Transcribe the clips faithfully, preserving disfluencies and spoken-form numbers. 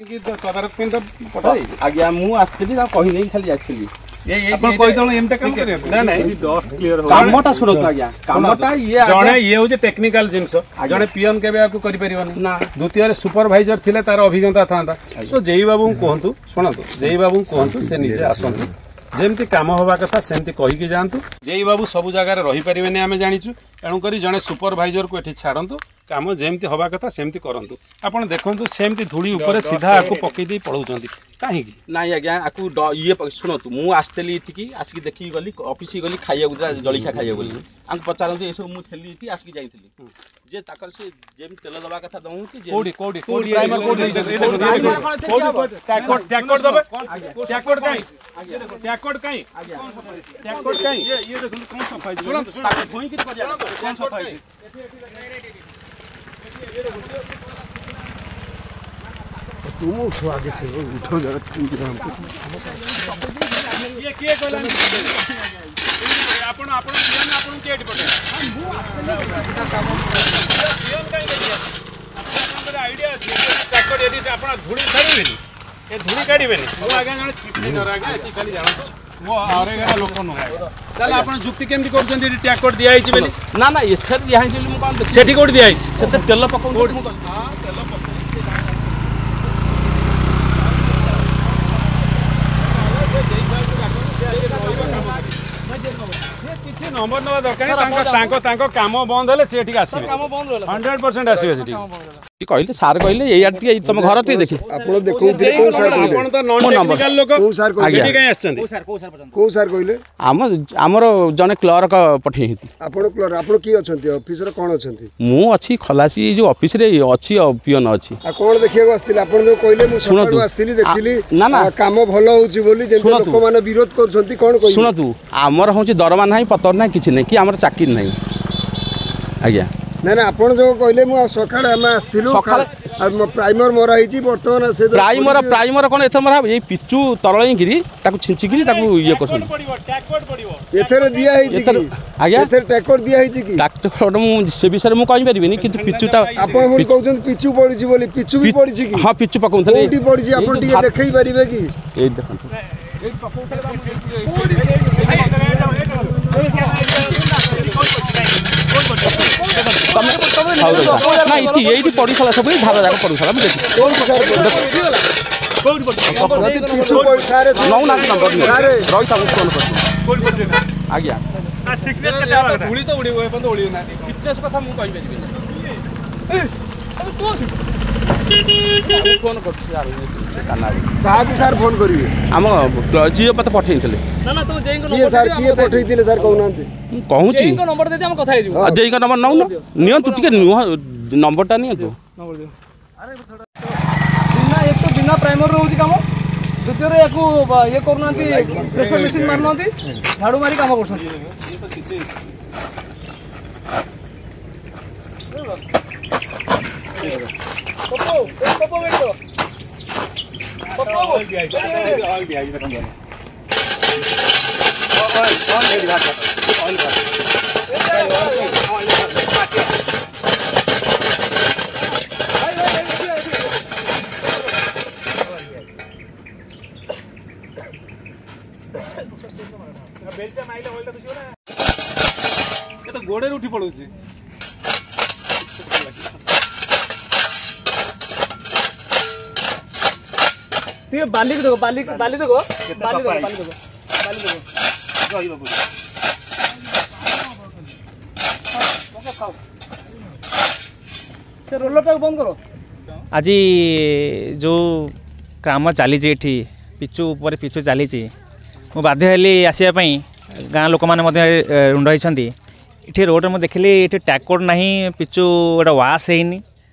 ତଦାରଖ ପାଇଁ ତ ପଠାଇ ଆଜ୍ଞା ମୁଁ ଆସିଥିଲି ତାକୁ କହି ନେଇକି ଖାଲି ଆସିଥିଲି ଆପଣ କହିଦେଣ ଏମିତି କାମ କରିବା ନାଇଁ ନାଇଁ କାମଟା ଶୁଣନ୍ତୁ ଆଜ୍ଞା କାମଟା ଇଏ ଜଣେ ଇଏ ହଉଛି ଟେକ୍ନିକାଲ ଜିନିଷ ଜଣେ ପିଅନ କେବେ ଆକୁ କରିପାରିବନି ନା ଦ୍ୱିତୀୟରେ ସୁପରଭାଇଜର ଥିଲେ ତାର ଅଭିଜ୍ଞତା ଥାନ୍ତା ତ ଜେଇ ବାବୁଙ୍କୁ କୁହନ୍ତୁ ଶୁଣନ୍ତୁ ଜେଇ ବାବୁଙ୍କୁ କୁହନ୍ତୁ ସେ ନିଜେ ଆସନ୍ତୁ ଯେମିତି କାମ ହବା କଥା ସେମିତି କହିକି ଯାଆନ୍ତୁ ଜେଇ ବାବୁ ସବୁ ଜାଗାରେ ରହିପାରିବେନି ଆମେ ଜାଣିଛୁ ତେଣୁକରି ଜଣେ ସୁପରଭାଇଜରକୁ ଏଠି ଛାଡ଼ନ୍ତୁ କାମ ଯେମିତି ହବା କଥା ସେମିତି କରନ୍ତୁ ଆପଣ ଦେଖନ୍ତୁ ସେମିତି ଧୂଳି ଉପରେ ସିଧା ଆକୁ ପକେଇ ଦେଇ ପଳଉଛନ୍ତି କାହିଁକି ନାଇଁ ଆଜ୍ଞା ଆକୁ ଇଏ ଶୁଣନ୍ତୁ ମୁଁ ଆସିଥିଲି ଏଠିକି ଆସିକି ଦେଖିକି ଗଲି ଅଫିସ ଗଲି ଖାଇବାକୁ ଜଳଖିଆ ଖାଇବାକୁ ଗଲି ଆଙ୍କୁ ପଚାରନ୍ତୁ ଏସବୁ ମୁଁ ଥିଲି ଏଠି ଆସିକି ଯାଇଥିଲି ଯେ ତାଙ୍କର ସେ ଯେମିତି ତେଲ ଦେବା କଥା ଦଉନ୍ତି କୋଉଠି କୋଉଠି କୋଉଠି ପ୍ରାଇମର କୋଉଠି ଟ୍ୟାକୋଟ ଦେବେ ଟ୍ୟାକୋଟ କାଇଁ ଟ୍ୟାକୋଟ କାଇଁ ଟ୍ୟାକୋଟ କାଇଁ ଇଏ ଦେଖନ୍ତୁ କଣ ସଫା ହେଇଛି ଶୁଣନ୍ତୁ ତାକୁ ଧୋଇକି କରିବା କଣ ସଫା ହେଇଛି तुम उठो आगे से उठो जरा तुम हमको ये किए कहला ଆପଣ ଆପଣ ପିଅନ ଆପଣଙ୍କୁ କିଏ ଏଠି ପଠେଇଲା ପିଅନ କାହିଁ ଦେଖିଲେ ଆପଣଙ୍କର ଆଇଡିଆ ଅଛି ଟ୍ୟାକୋଟ ଏଠି ଆପଣ ଧୂଳି ଛାଡ଼ିବେନି ଏ ଧୂଳି କାଢିବେନି ମୁଁ ଆଜ୍ଞା ଜଣେ ଚିଫ୍ ଇଞ୍ଜିନିୟର ଆଜ୍ଞା ଏତିକି ଖାଲି ଜାଣନ୍ତୁ ମୋ ଅରେଗାର ଲୋକ ନୁହେଁ ତାହେଲେ ଆପଣ ଯୁକ୍ତି କେମିତି କରୁଛନ୍ତି ଏଠି ଟ୍ୟାକୋଟ ଦିଆହେଇଛି ବୋଲି ନା ନା ଏଥିରେ ଦିଆହେଇଛି ବୋଲି ମୁଁ କଣ ଦେଖିଲି ସେଠି କୋଉଠି ଦିଆହେଇଛି ସେଥିରେ ତେଲ ପକଉଛନ୍ତି ମୁଁ ହଁ ତେଲ ପକଉଛନ୍ତି କିଛି ନମ୍ବର ନେବା ଦରକାର ତାଙ୍କ ତାଙ୍କ ତାଙ୍କ କାମ ବନ୍ଦ ହେଲେ ସେ ଏଠିକି ଆସିବେ ହଣ୍ଡ୍ରେଡ ପରସେଣ୍ଟ ଆସିବେ ସେଠି କହିଲେ ସାର୍ କହିଲେ ଏଇଆ ଟିକେ ତମ ଘର ଟିକେ ଦେଖି ଆପଣ ଦେଖଉଥିଲେ କୋଉ ସାର୍ କହିଲେ ଆପଣ ତ ନନ୍ ଟେକ୍ନିକାଲ ଲୋକ କୋଉ ସାର୍ କହିଲେ ଏଠି କାଇଁ ଆସିଛନ୍ତି କୋଉ ସାର୍ କହିଲେ ଆମ ଆମର ଜଣେ କ୍ଲର୍କ ପଠେଇଛନ୍ତି ଆପଣ କ୍ଲର୍କ ଆପଣ କିଏ ଅଛନ୍ତି ଅଫିସର କଣ ଅଛନ୍ତି ମୁଁ ଅଛି ଖଲାସି ଏଇ ଯୋଉ ଅଫିସରେ ଅଛି ପିଅନ ଅଛି ଆଉ କଣ ଦେଖିବାକୁ ଆସିଥିଲେ ଆପଣ ଯୋଉ କହିଲେ ମୁଁ ସକାଳୁ ଆସିଥିଲି ଦେଖିଲି ନା ନା କାମ ଭଲ ହଉଛି ବୋଲି ଯେମିତି ଲୋକମାନେ ବିରୋଧ କରୁଛନ୍ତି କଣ କହିବେ ଶୁଣନ୍ତୁ ଆମର ହଉଛି ଦରମା ନାହିଁ ପତର ନାହିଁ କିଛି ନାହିଁ କି ଆମର ଚାକିରି ନାହିଁ ଆଜ୍ଞା ନା ନା ଆପଣ ଯୋଉ କହିଲେ ମୁଁ ସକାଳେ ଆମେ ଆସିଥିଲୁ ପ୍ରାଇମର ମରା ହେଇଛି ବର୍ତ୍ତମାନ ସେ ପ୍ରାଇମର ପ୍ରାଇମର କଣ ଏଥର ମରା ଏଇ ପିଚୁ ତରଳେଇକିରି ତାକୁ ଛିଞ୍ଚିକିରି ତାକୁ ଇଏ କରୁଛନ୍ତି ଏଥିରେ ଦିଆ ହେଇଛି କି ଆଜ୍ଞା ଏଥିରେ ଟ୍ୟାକର ଦିଆ ହେଇଛି କି ଟ୍ରାକ୍ଟର ମୁଁ ସେ ବିଷୟରେ ମୁଁ କହିପାରିବିନି କିନ୍ତୁ ପିଚୁଟା ଆପଣ ପୁଣି କହୁଛନ୍ତି ପିଚୁ ପଡିଛି ବୋଲି ପିଚୁ ବି ପଡିଛି କି ହଁ ପିଚୁ ପକଉଥିଲେ କୋଉଠି ପଡିଛି ଆପଣ ଟିକେ ଦେଖେଇ ପାରିବେ କି ଏଇ ଦେଖନ୍ତୁ ନା ଏଠି ଏଇଠି ପଡ଼ିଥିଲା ସବୁ ଧାର ଯାକ ପଡ଼ୁଥିଲା ମୁଁ ଦେଖି ନଉନାହାନ୍ତି ନମ୍ବର ରହିଥା ମୁଁ ଫୋନ୍ କରୁଛି ଆଜ୍ଞା ଧୂଳି ତ ଉଡ଼ିବ ଏପର୍ଯ୍ୟନ୍ତ ଉଡ଼ିବ ନାହାନ୍ତି ଫିଟନେସ୍ କଥା ମୁଁ କହିପାରିବିନି ଫୋନ୍ କରୁଛି କାହାକୁ ସାର୍ ଫୋନ୍ କରିବେ ଆମ ଯିଏ ମତେ ପଠେଇଥିଲେ କିଏ ସାର୍ କିଏ ପଠେଇଥିଲେ ସାର୍ କହୁନାହାନ୍ତି ମୁଁ କହୁଛି ଜେଇଙ୍କ ନମ୍ବର ନଉନ ନିଅନ୍ତୁ ଟିକେ ନୁହଁ ନମ୍ବରଟା ନିଅନ୍ତୁ ବିନା ଏକ ତ ବିନା ପ୍ରାଇମର ରହୁଛି କାମ ଦ୍ୱିତୀୟରେ ୟାକୁ ଇଏ କରୁନାହାନ୍ତି ପ୍ରେସର ମେସିନ୍ ମାରୁନାହାନ୍ତି ଝାଡ଼ୁ ମାରି କାମ କରୁଛନ୍ତି ଏ ତ ଗୋଡ଼ରେ ଉଠି ପଳଉଛି ଟିକେ ବାଲିକୁ ଦେଖ ବାଲି ବାଲି ଦେଖ ବାଲି ଦେଖ ବାଲି ଦେଖ ବାଲି ଦେଖ ରହିବ ପୁରା ସେ ରୋଲରଟାକୁ ବନ୍ଦ କର ଆଜି ଯେଉଁ କାମ ଚାଲିଛି ଏଠି ପିଚୁ ଉପରେ ପିଚୁ ଚାଲିଛି ମୁଁ ବାଧ୍ୟ ହେଲି ଆସିବା ପାଇଁ ଗାଁ ଲୋକମାନେ ମଧ୍ୟ ରୁଣ୍ଡ ହେଇଛନ୍ତି ଏଠି ରୋଡ଼ରେ ମୁଁ ଦେଖିଲି ଏଠି ଟ୍ୟାକୋଡ଼ ନାହିଁ ପିଚୁ ଏଇଟା ୱାଶ୍ ହେଇନି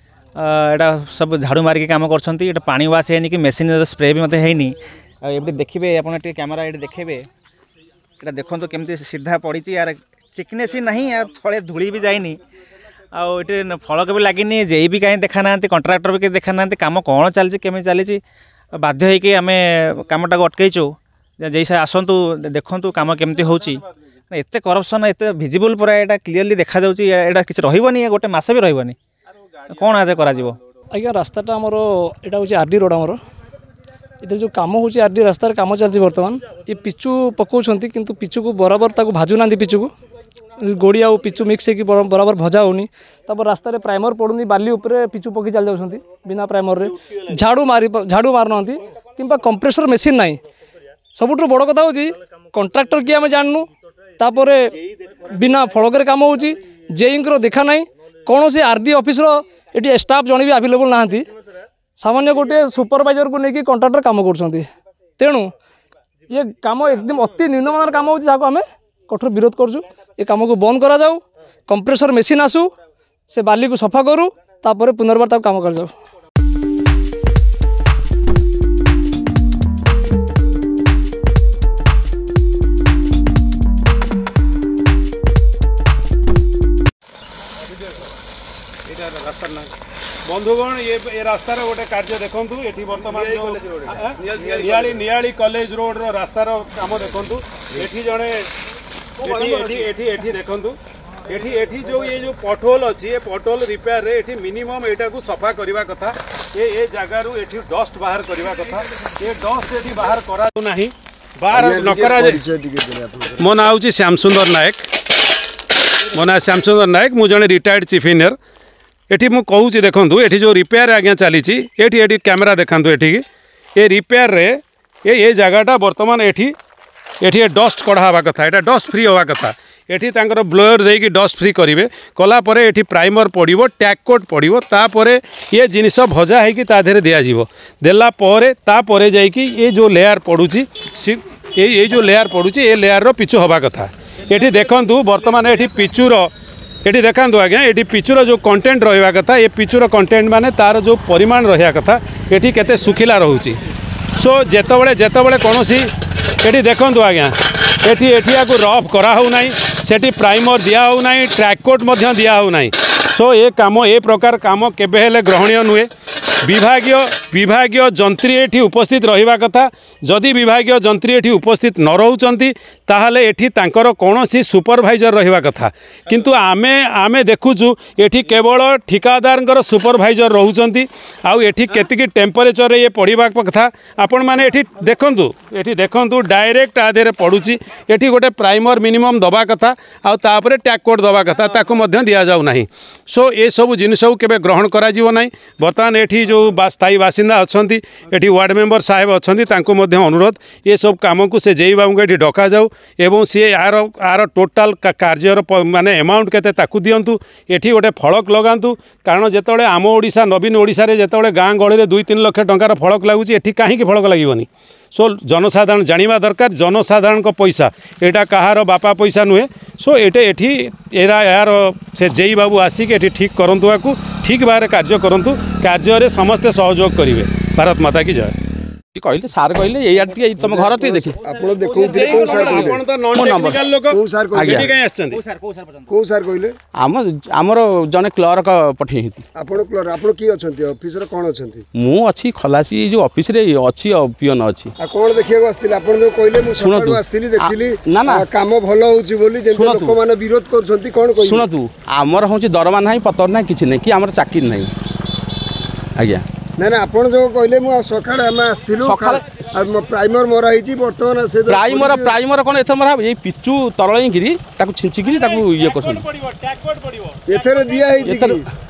ଏଇଟା ସବୁ ଝାଡ଼ୁ ମାରିକି କାମ କରୁଛନ୍ତି ଏଇଟା ପାଣି ୱାଶ୍ ହେଇନି କି ମେସିନ୍ ସ୍ପ୍ରେ ବି ମଧ୍ୟ ହେଇନି ଆଉ ଏଠି ଦେଖିବେ ଆପଣ ଟିକେ କ୍ୟାମେରା ଏଠି ଦେଖେଇବେ ଏଇଟା ଦେଖନ୍ତୁ କେମିତି ସିଧା ପଡ଼ିଛି ୟାର ଥିକନେସ୍ ହିଁ ନାହିଁ ଆଉ ତଳେ ଧୂଳି ବି ଯାଇନି ଆଉ ଏଠି ଫଳକ ବି ଲାଗିନି ଜେଇ ବି କାହିଁ ଦେଖା ନାହାନ୍ତି କଣ୍ଟ୍ରାକ୍ଟର ବି କେହି ଦେଖା ନାହାନ୍ତି କାମ କ'ଣ ଚାଲିଛି କେମିତି ଚାଲିଛି ବାଧ୍ୟ ହେଇକି ଆମେ କାମଟାକୁ ଅଟକେଇଛୁ ଜେଇ ସାର୍ ଆସନ୍ତୁ ଦେଖନ୍ତୁ କାମ କେମିତି ହେଉଛି ଏତେ କରପ୍ସନ୍ ଏତେ ଭିଜିବୁଲ୍ ପୁରା ଏଇଟା କ୍ଲିଅରଲି ଦେଖାଯାଉଛି ଏଇଟା କିଛି ରହିବନି ଗୋଟେ ମାସ ବି ରହିବନି କ'ଣ ଆଜି କରାଯିବ ଆଜ୍ଞା ରାସ୍ତାଟା ଆମର ଏଇଟା ହେଉଛି ଆର୍ ଡି ରୋଡ଼ ଆମର ଏଥିରେ ଯେଉଁ କାମ ହେଉଛି ଆର୍ ଡି ରାସ୍ତାରେ କାମ ଚାଲିଛି ବର୍ତ୍ତମାନ ଏ ପିଚୁ ପକାଉଛନ୍ତି କିନ୍ତୁ ପିଚୁକୁ ବରାବର ତାକୁ ଭାଜୁନାହାନ୍ତି ପିଚୁକୁ ଗୋଡ଼ି ଆଉ ପିଚୁ ମିକ୍ସ ହେଇକି ବରାବର ଭଜା ହେଉନି ତାପରେ ରାସ୍ତାରେ ପ୍ରାଇମର ପଡ଼ୁନି ବାଲି ଉପରେ ପିଚୁ ପକାଇ ଚାଲି ଯାଉଛନ୍ତି ବିନା ପ୍ରାଇମରରେ ଝାଡ଼ୁ ମାରି ଝାଡ଼ୁ ମାରୁନାହାନ୍ତି କିମ୍ବା କମ୍ପ୍ରେସର ମେସିନ୍ ନାହିଁ ସବୁଠୁ ବଡ଼ କଥା ହେଉଛି କଣ୍ଟ୍ରାକ୍ଟର କିଏ ଆମେ ଜାଣିନୁ ତାପରେ ବିନା ଫଳକରେ କାମ ହେଉଛି ଜେଇଙ୍କର ଦେଖା ନାହିଁ କୌଣସି ଆର୍ ଡି ଅଫିସର ଏଠି ଷ୍ଟାଫ୍ ଜଣେ ବି ଆଭେଲେବୁଲ୍ ନାହାନ୍ତି ସାମାନ୍ୟ ଗୋଟିଏ ସୁପରଭାଇଜରକୁ ନେଇକି କଣ୍ଟ୍ରାକ୍ଟର କାମ କରୁଛନ୍ତି ତେଣୁ ଇଏ କାମ ଏକଦମ ଅତି ନିମ୍ନମାନର କାମ ହେଉଛି ଯାହାକୁ ଆମେ କଠୋର ବିରୋଧ କରୁଛୁ ଏ କାମକୁ ବନ୍ଦ କରାଯାଉ କମ୍ପ୍ରେସର ମେସିନ୍ ଆସୁ ସେ ବାଲିକୁ ସଫା କରୁ ତାପରେ ପୁନର୍ବାର ତାକୁ କାମ କରାଯାଉ ବନ୍ଧୁଗଣ ଏ ଏ ରାସ୍ତାର ଗୋଟେ କାର୍ଯ୍ୟ ଦେଖନ୍ତୁ ଏଠି ବର୍ତ୍ତମାନ ନିଆଳି ନିଆଳି କଲେଜ ରୋଡର ରାସ୍ତାର କାମ ଦେଖନ୍ତୁ ଏଠି ଜଣେ ଏଠି ଏଠି ଏଠି ଏଠି ଦେଖନ୍ତୁ ଏଠି ଏଠି ଯୋଉ ଏ ଯୋଉ ପଟହୋଲ ଅଛି ଏ ପଟହୋଲ ରିପେୟାରରେ ଏଠି ମିନିମମ୍ ଏଇଟାକୁ ସଫା କରିବା କଥା ଏ ଏ ଜାଗାରୁ ଏଠି ଡଷ୍ଟ ବାହାର କରିବା କଥା ଏ ଡଷ୍ଟ ଏଠି ବାହାର କରାଯାଉ ନାହିଁ ବାହାର ନ କରାଯାଏ ମୋ ନାଁ ହେଉଛି ଶ୍ୟାମସୁନ୍ଦର ନାୟକ ମୋ ନାଁ ଶ୍ୟାମସୁନ୍ଦର ନାୟକ ମୁଁ ଜଣେ ରିଟାୟାର୍ଡ ଚିଫ୍ ଇଞ୍ଜିନିୟର ଏଠି ମୁଁ କହୁଛି ଦେଖନ୍ତୁ ଏଠି ଯେଉଁ ରିପେୟାର ଆଜ୍ଞା ଚାଲିଛି ଏଠି ଏଠି କ୍ୟାମେରା ଦେଖାନ୍ତୁ ଏଠିକି ଏ ରିପେୟାରରେ ଏ ଏ ଜାଗାଟା ବର୍ତ୍ତମାନ ଏଠି ଏଠି ଏ ଡଷ୍ଟ କଢ଼ା ହେବା କଥା ଏଇଟା ଡଷ୍ଟ ଫ୍ରି ହେବା କଥା ଏଠି ତାଙ୍କର ବ୍ଲୋୟର ଦେଇକି ଡଷ୍ଟ ଫ୍ରି କରିବେ କଲା ପରେ ଏଠି ପ୍ରାଇମର ପଡ଼ିବ ଟ୍ୟାକ୍ କୋଟ୍ ପଡ଼ିବ ତାପରେ ଏ ଜିନିଷ ଭଜା ହେଇକି ତା ଦେହରେ ଦିଆଯିବ ଦେଲା ପରେ ତାପରେ ଯାଇକି ଏ ଯେଉଁ ଲେୟାର ପଡ଼ୁଛି ଏଇ ଏଇ ଯେଉଁ ଲେୟାର ପଡ଼ୁଛି ଏ ଲେୟାରର ପିଚୁ ହେବା କଥା ଏଠି ଦେଖନ୍ତୁ ବର୍ତ୍ତମାନ ଏଠି ପିଚୁର ଏଠି ଦେଖାନ୍ତୁ ଆଜ୍ଞା ଏଠି ପିଚୁର ଯେଉଁ କଣ୍ଟେଣ୍ଟ ରହିବା କଥା ଏ ପିଚୁର କଣ୍ଟେଣ୍ଟ ମାନେ ତାର ଯେଉଁ ପରିମାଣ ରହିବା କଥା ଏଠି କେତେ ଶୁଖିଲା ରହୁଛି ସୋ ଯେତେବେଳେ ଯେତେବେଳେ କୌଣସି ଏଠି ଦେଖନ୍ତୁ ଆଜ୍ଞା ଏଠି ଏଠି ୟାକୁ ରଫ୍ କରାହେଉନାହିଁ ସେଠି ପ୍ରାଇମର ଦିଆହେଉନାହିଁ ଟ୍ରାକ୍ କୋଟ୍ ମଧ୍ୟ ଦିଆହେଉନାହିଁ ସୋ ଏ କାମ ଏ ପ୍ରକାର କାମ କେବେ ହେଲେ ଗ୍ରହଣୀୟ ନୁହେଁ ବିଭାଗୀୟ ବିଭାଗୀୟ ଯନ୍ତ୍ରୀ ଏଠି ଉପସ୍ଥିତ ରହିବା କଥା ଯଦି ବିଭାଗୀୟ ଯନ୍ତ୍ରୀ ଏଠି ଉପସ୍ଥିତ ନ ରହୁଛନ୍ତି ତାହେଲେ ଏଠି ତାଙ୍କର କୌଣସି ସୁପରଭାଇଜର ରହିବା କଥା କିନ୍ତୁ ଆମେ ଆମେ ଦେଖୁଛୁ ଏଠି କେବଳ ଠିକାଦାରଙ୍କର ସୁପରଭାଇଜର ରହୁଛନ୍ତି ଆଉ ଏଠି କେତିକି ଟେମ୍ପରେଚରରେ ଇଏ ପଡ଼ିବା କଥା ଆପଣମାନେ ଏଠି ଦେଖନ୍ତୁ ଏଠି ଦେଖନ୍ତୁ ଡାଇରେକ୍ଟ ଆ ଦେହରେ ପଡ଼ୁଛି ଏଠି ଗୋଟେ ପ୍ରାଇମର ମିନିମମ୍ ଦେବା କଥା ଆଉ ତାପରେ ଟ୍ୟାକ୍ କୋଟ୍ ଦେବା କଥା ତାକୁ ମଧ୍ୟ ଦିଆଯାଉ ନାହିଁ ସୋ ଏସବୁ ଜିନିଷକୁ କେବେ ଗ୍ରହଣ କରାଯିବ ନାହିଁ ବର୍ତ୍ତମାନ ଏଠି ଯେଉଁ ସ୍ଥାୟୀ ବାସିନ୍ଦା ଅଛନ୍ତି ଏଠି ୱାର୍ଡ଼ ମେମ୍ବର ସାହେବ ଅଛନ୍ତି ତାଙ୍କୁ ମଧ୍ୟ ଅନୁରୋଧ ଏସବୁ କାମକୁ ସେ ଜେଇ ବାବୁଙ୍କୁ ଏଠି ଡକାଯାଉ ଏବଂ ସିଏ ଏହାର ଆର ଟୋଟାଲ କାର୍ଯ୍ୟର ମାନେ ଆମାଉଣ୍ଟ କେତେ ତାକୁ ଦିଅନ୍ତୁ ଏଠି ଗୋଟେ ଫଳକ ଲଗାନ୍ତୁ କାରଣ ଯେତେବେଳେ ଆମ ଓଡ଼ିଶା ନବୀନ ଓଡ଼ିଶାରେ ଯେତେବେଳେ ଗାଁ ଗହଳିରେ ଦୁଇ ତିନି ଲକ୍ଷ ଟଙ୍କାର ଫଳକ ଲାଗୁଛି ଏଠି କାହିଁକି ଫଳକ ଲାଗିବନି ସୋ ଜନସାଧାରଣ ଜାଣିବା ଦରକାର ଜନସାଧାରଣଙ୍କ ପଇସା ଏଇଟା କାହାର ବାପା ପଇସା ନୁହେଁ ସୋ ଏଇଟା ଏଠି ଏରା ଏହାର ସେ ଜେଇ ବାବୁ ଆସିକି ଏଠି ଠିକ୍ କରନ୍ତୁ ଆକୁ ଠିକ୍ ଭାବରେ କାର୍ଯ୍ୟ କରନ୍ତୁ କାର୍ଯ୍ୟରେ ସମସ୍ତେ ସହଯୋଗ କରିବେ ଭାରତ ମାତା କି ଜୟ କହିଲେ ସାର୍ କହିଲେ ଏଇଆ ଟିକେ ତମ ଘର ଟିକେ ଦେଖି ଆପଣ ଦେଖଉଥିଲେ କୋଉ ସାର୍ କହିଲେ ଆପଣ ତ ନନ୍ ଟେକ୍ନିକାଲ ଲୋକ କୋଉ ସାର୍ କହିଲେ ଏଠି କାଇଁ ଆସିଛନ୍ତି କୋଉ ସାର୍ କହିଲେ ଆମ ଆମର ଜଣେ କ୍ଲର୍କ ପଠେଇଛନ୍ତି ଆପଣ କ୍ଲର୍କ ଆପଣ କିଏ ଅଛନ୍ତି ଅଫିସର କ'ଣ ଅଛନ୍ତି ମୁଁ ଅଛି ଖଲାସି ଏଇ ଯୋଉ ଅଫିସରେ ଅଛି ପିଅନ ଅଛି ଆଉ କ'ଣ ଦେଖିବାକୁ ଆସିଥିଲେ ଆପଣ ଯୋଉ କହିଲେ ମୁଁ ସକାଳୁ ଆସିଥିଲି ଦେଖିଲି ନା ନା କାମ ଭଲ ହଉଛି ବୋଲି ଯେମିତି ଲୋକମାନେ ବିରୋଧ କରୁଛନ୍ତି କ'ଣ କହିବେ ଶୁଣନ୍ତୁ ଆମର ହେଉଛି ଦରମା ନାହିଁ ପତର ନାହିଁ କିଛି ନାହିଁ କି ଆମର ଚାକିରି ନାହିଁ ଆଜ୍ଞା ନା ନା ଆପଣ ଯୋଉ କହିଲେ ମୁଁ ସକାଳେ ଆମେ ଆସିଥିଲୁ ପ୍ରାଇମର ମରା ହେଇଛି ବର୍ତ୍ତମାନ ସେ ପ୍ରାଇମର ପ୍ରାଇମର କ'ଣ ଏଥର ମରା ଏଇ ପିଚୁ ତରଳେଇକିରି ତାକୁ ଛିଞ୍ଚିକିରି ତାକୁ ଇଏ କରୁଛନ୍ତି ଏଥିରେ ଦିଆ ହେଇଛି କି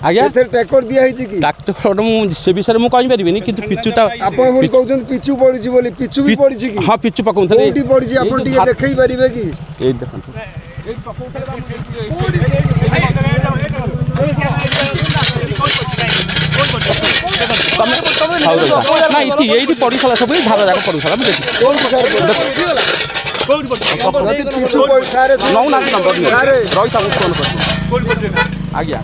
ଆଜ୍ଞା ଏଥିରେ ଟ୍ୟାକର ଦିଆ ହେଇଛି କି ଟ୍ରାକ୍ଟର ମୁଁ ସେ ବିଷୟରେ ମୁଁ କହିପାରିବିନି କିନ୍ତୁ ପିଚୁଟା ଆପଣ ପୁଣି କହୁଛନ୍ତି ପିଚୁ ପଡିଛି ବୋଲି ପିଚୁ ବି ପଡିଛି କି ହଁ ପିଚୁ ପକଉଥିଲେ କୋଉଠି ପଡିଛି ଆପଣ ଟିକେ ଦେଖେଇ ପାରିବେ କି ଏଇ ଦେଖନ୍ତୁ ନା ଏଠି ଏଇଠି ପଡ଼ିଥିଲା ସବୁ ଧାର ଯାକ ପଡ଼ୁଥିଲା ମୁଁ ଦେଖି ନଉନାହାନ୍ତି ନମ୍ବର ରହିଥାଉ ମୁଁ ଫୋନ୍ କରୁଛି ଆଜ୍ଞା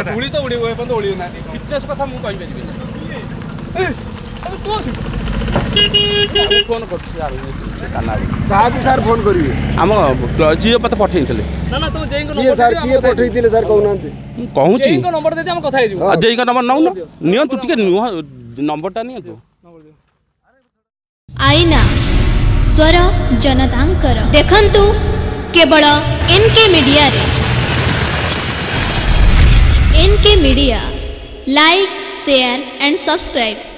ଧୂଳି ତ ଉଡ଼ିବ ଏପର୍ଯ୍ୟନ୍ତ ଉଡ଼ିବ ନାହିଁ ଫିଟନେସ୍ କଥା ମୁଁ କହିପାରିବିନି ଫୋନ୍ କରୁଛି କାହାକୁ ସାର୍ ଫୋନ୍ କରିବେ ଆମ ଯିଏ ମତେ ପଠେଇଥିଲେ କିଏ ସାର୍ କିଏ ପଠେଇଥିଲେ ସାର୍ କହୁନାହାନ୍ତି ମୁଁ କହୁଛି ଜେଇଙ୍କ ନମ୍ବର ଦେଇଦିଅ ଆମେ କଥା ହେଇଯିବୁ ଜେଇଙ୍କ ନମ୍ବର ନଉନ ନିଅନ୍ତୁ ଟିକେ ନୁହଁ ନମ୍ବରଟା ନିଅନ୍ତୁ ଆଇନା ସ୍ୱର ଜନତାଙ୍କର ଦେଖନ୍ତୁ କେବଳ ଏନ୍କେ ମିଡ଼ିଆରେ NK media. Like, share and subscribe.